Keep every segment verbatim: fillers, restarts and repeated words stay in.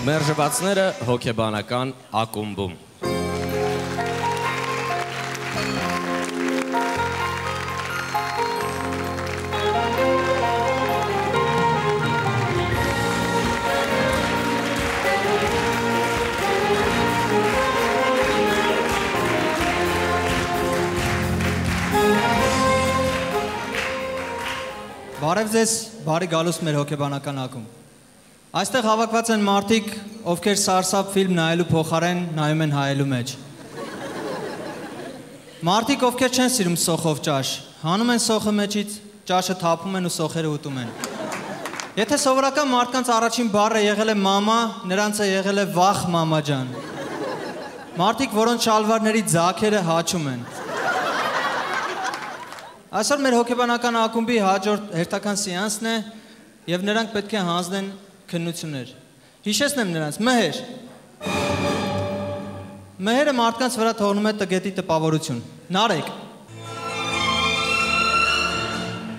Մերժվածները հոգեբանական ակումբում։ Բարև ձեզ, բարի գալուստ մեր հոգեբանական ակումբ։ Այստեղ հավաքված են մարդիկ, ովքեր սարսափ ֆիլմ նայելու փոխարեն նայում են հայելու մեջ։ Մարդիկ, ովքեր չեն սիրում սոխով ճաշ, հանում են սոխը մեջից, ճաշը թափում են ու սոխերը ուտում են։ Եթե սովորական մարդկանց առաջին բառը եղել է մամա, նրանց է եղել է վախ մամա ջան։ Մարդիկ, որոնց շալվարների ձագերը հաչում են։ Այսօր մեր հոգեբանական ակումբի հաջորդ հերթական սեանսն է եւ նրանք պետք է հանձնեն քննություններ։ Հիշեցնեմ նրանց, մհեր։ Մհերը մարդկանց վրա թողնում է տգետի տպավորություն։ Նարեկ։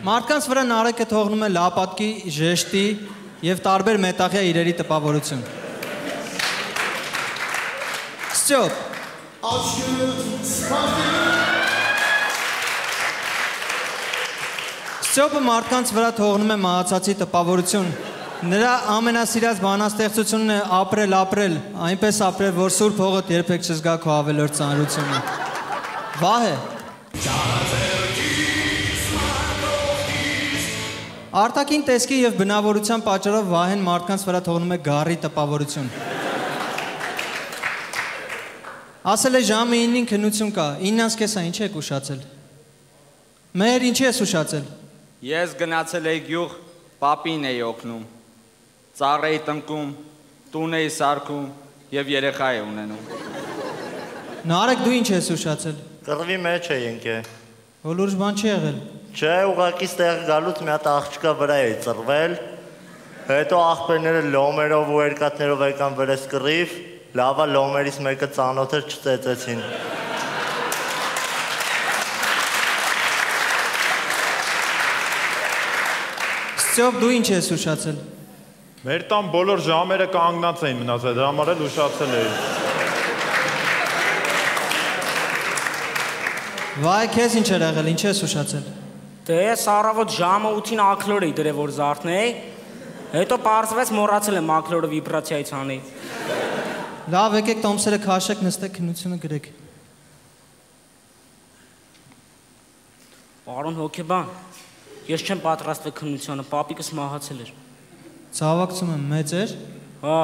Մարդկանց վրա նարեկը թողնում է լապատկի, ժեշտի եւ տարբեր մետաղյա իրերի տպավորություն։ Ստյոպ։ Ստյոպը մարդկանց վրա թողնում է մահացածի տպավորություն։ Նրա ամենասիրած բանաստեղծությունն է ապրել, ապրել, այնպես ապրել, որ սուրբ հողդ երբեք չզգա քո ավելորդ ծանրությունը։ Վահե։ Արտաքին տեսքի եւ բնավորության պատճառով Վահեն մարդկանց վրա թողնում է գառի տպավորություն։ Ասել է ժամը ինին քննություն կա, իննանց կեսա ինչ եք ուշացել։ Մեր ինչի ես ուշացել։ Ես գնացել էի գյուղ, պապին էի օգնում, ծառ էի տնկում, տուն էի սարքում և երեխա էի ունենում։ Նարեկ դու ինչ ես ուշացել։ Կռվի մեջ էինք է։ Հոլուրջ բան չի եղել։ Չէ, ուղղակի ստեղ գալուց մի հատ աղջկա վրա էի ծռվել, հետո աղբերները լոմերով ու երկաթներով եկան վրես կռիվ, լավա լոմերից մեկը ծանոթեր չծեծեցին։ Ստյոպ դու ինչ ես ուշացել։ Մեր տան բոլոր ժամերը կանգնած էին մնացել, դրա համար էլ ուշացել էի։ Վայ, քեզ ինչ էր եղել, ինչ ես ուշացել։ Դե ես առավոտ ժամը ութին ակլոր էի դրել, որ զարթնեի, հետո պարզվեց մոռացել եմ ակլորը վիբրացիայից անել։ Լավ, եկեք տոմսերը քաշեք, նստեք քննությունը գրեք։ Պարոն հոգեբան, ես չեմ պատրաստվել քննությանը, պապիկս մահացել էր։ Ցավակցում եմ, մեծ էր։ Հա,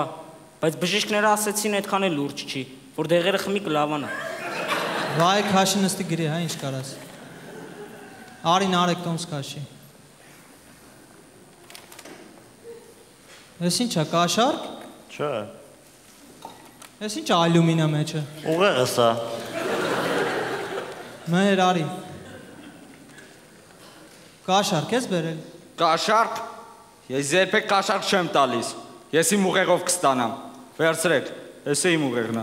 բայց բժիշկները ասեցին այդքան էլ լուրջ չի, որ դեղերը խմի կլավանա։ Վայ, քաշի նստի գրի, հա, ինչ կարաս։ Արի նարեկ տոմս քաշի։ Ես ինչ է, կաշարք։ Չէ։ Ես ինչ ալյումինա մեջը։ Ուղեղը սա։ Մեր արի։ Կաշարք ես բերել։ Կաշարք։ Ես երբեք կաշարք չեմ տալիս։ Ես իմ ուղեղով կստանամ։ Վերցրեք, ես է իմ ուղեղն է։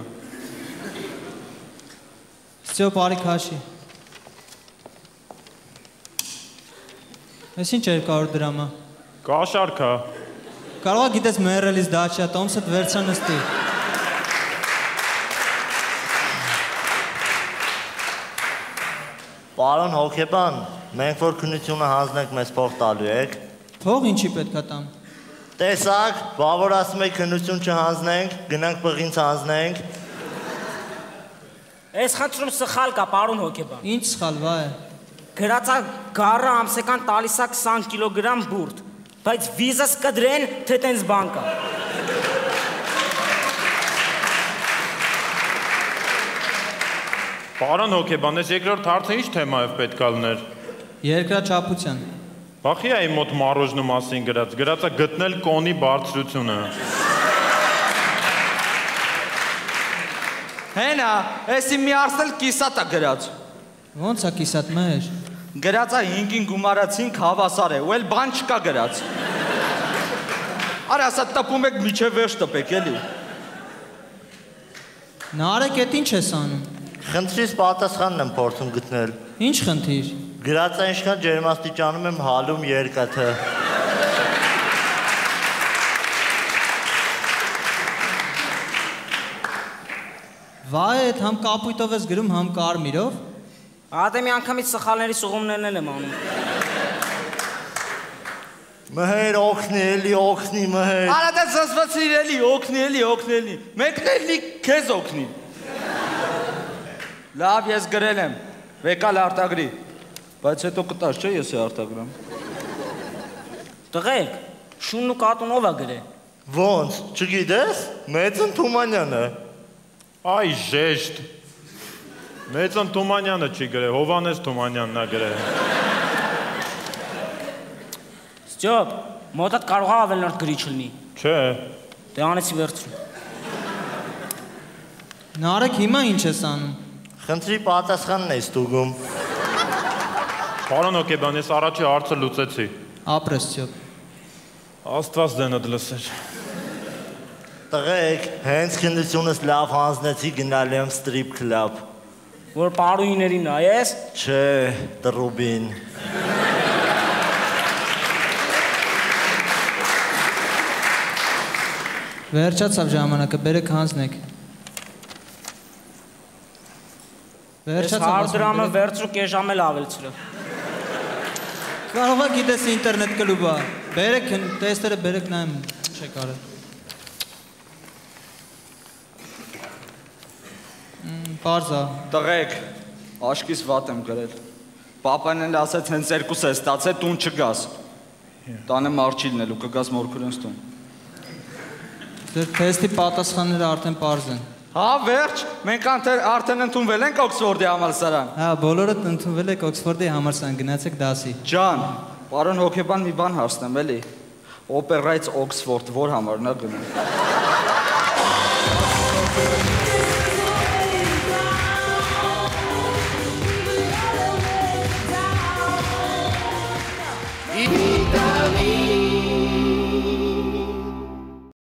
Ստյոպ արի քաշի։ Ես ինչ երկու հարյուր դրամ է։ Կաշարք է։ Կարող է գիտես մեռելիս դա չի, տոմսդ վերցա նստի։ Պարոն հոգեբան, մենք որ քննությունը հանձնենք մեզ փող տալու եք։ Փող ինչի պետք է տամ։ Տեսակ, բա որ ասում եք քննություն չհանձնենք, գնանք բղինց հանձնենք։ Այս խնդրում սխալ կա, պարոն հոգեբան։ Ինչ սխալ, վայ։ Գրածա գառը ամսական տալիս է քսան կիլոգրամ բուրդ, բայց վիզաս կդրեն, թե տենց բան կա։ Պարոն հոգեբան, ես երկրորդ հարցը ինչ թեմայով պետք է լներ։ Երկրաչափության։ Բախի է իմ մոտ մարոժնու մասին գրած, գրածա գտնել կոնի բարձրությունը։ Հենա, ես իմ մի արսել կիսատ է գրած։ Ոնց է կիսատ մեր։ Գրածա հինգին գումարացինք հավասար է, ու էլ բան չկա գրած։ Արա ասա տպում եք միջև վերջ տպեք, էլի։ Նարեկ էդ ինչ ես անում։ Խնդրից պատասխանն եմ փորձում գտնել։ Ինչ խնդիր։ Գրածա ինչքան ջերմաստիճանում եմ հալում երկաթը։ Վայ, այդ համ կապույտով ես գրում, համ կարմիրով։ Ադե մի անգամից սխալների սուղումներն եմ անում։ Մհեր օգնի, էլի օգնի, մհեր։ Արա դա զսվացիր էլի, օգնի, էլի, օգնի, էլի։ Մեկն էլի քեզ օգնի։ Լավ, ես գրել եմ։ Վեկալ արտագրի։ Բայց հետո կտաս, չէ՞ ես է արտագրամ։ Տղեկ, շունն ու կատունով է գրել։ Ոնց, չգիտես։ Մեծն Թումանյանը։ Այ ժեշտ։ Մեծն Թումանյանը չի գրել, Հովանես Թումանյանն է գրել։ Ստյոպ, մոտդ կարող է ավելնորդ գրիչ լինի։ Չէ։ Դե անեցի վերցրու։ Նարեկ հիմա ինչ ես անում։ Խնդրի պատասխանն ես ստուգում։ Պարոն Հոկեբան, ես առաջի հարցը լուծեցի։ Ապրես Ստյոպ։ Աստված դենդ լսեր։ Տղեկ, հենց քննությունս լավ հանձնեցի գնալ եմ ստրիփ քլաբ։ Որ պարուիներին նայես։ Չէ, տրուբին։ Վերջացավ ժամանակը, բերեք հանձնեք։ Ես հարդրամը վերցրու կես ժամ էլ ավելցրը։ Կարող է գիտես ինտերնետ կլուբա։ Բերեք տեստերը, բերեք նայեմ, ինչ է կարել։ Պարզա։ Տղեկ, աշկիս վատ եմ գրել։ Պապան էլ ասեց հենց երկուս է ստացել, տուն չգաս։ Տանը մարչիլն էլ ու կգաս մորքուրենս տուն։ Ձեր թեստի պատասխանները արդեն պարզ են։ Հա, վերջ, մենք արդեն ընդունվել ենք Օքսֆորդի համալսարան։ Հա, բոլորդ ընդունվել եք Օքսֆորդի համալսարան, գնացեք դասի։ Ջան, պարոն Հոկեբան մի բան հարցնեմ, էլի։ Օպերայից Օքսֆորդ, որ համարն է գնում։ Ի